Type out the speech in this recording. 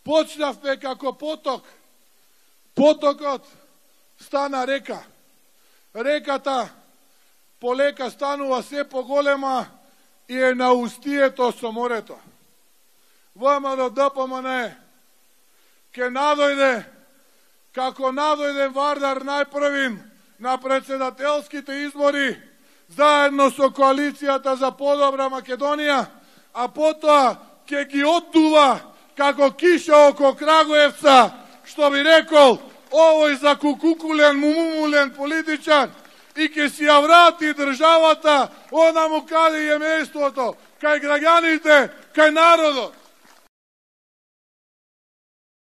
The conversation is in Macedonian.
Почнавме како поток. Потокот стана река. Реката полека станува се поголема и е на устието со морето. ВМРО ДПМН ке надојде, како надојде Вардар најпрвин на председателските избори, заедно со коалицијата за подобра Македонија, а потоа ке ги оддува како киша око Крагуевца, што би рекол овој закукукулен, мумумулен политичар, и ке си ја врати државата онаму каде е местото, кај граѓаните, кај народот.